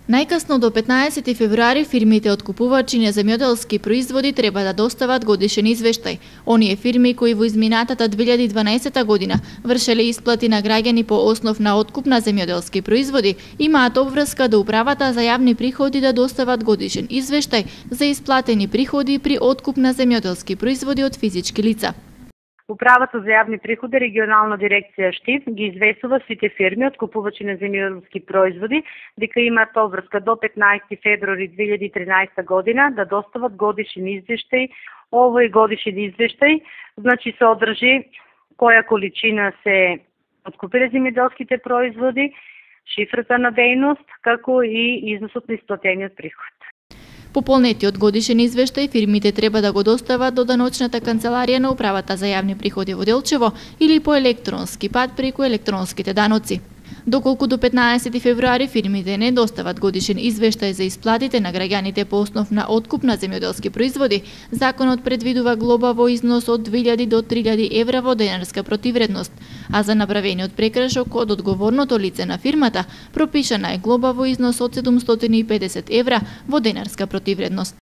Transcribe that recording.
Најкасно до 15 февруари фирмите откупувачи на земјоделски производи треба да достават годишен извештај. Оние фирми кои во изминатата 2012 година вршеле исплати на граѓани по основ на откуп на земјоделски производи, имаат обврска до Управата за јавни приходи да достават годишен извештај за исплатени приходи при откуп на земјоделски производи од физички лица. Управата за јавни приходи, регионална дирекција Штип, ги известува сите фирми откупувачи на земјоделски производи дека имаат обврска до 15 февруари 2013 година да достават годишен извештај. Овој годишен извештај значи се одржи која количина се откупиле земјоделските производи, шифрата на дејност, како и износот на исплатениот приход. Пополнетиот годишен извештај фирмите треба да го достават до даночната канцеларија на Управата за јавни приходи во Делчево или по електронски пат преку електронските даноци. Доколку до 15 февруари фирмите не достават годишен извештај за исплатите на граѓаните по основ на откуп на земјоделски производи, законот предвидува глоба во износ од 2000 до 3000 евра во денарска противредност, а за направениот прекршок од одговорното лице на фирмата пропишана е глоба во износ од 750 евра во денарска противредност.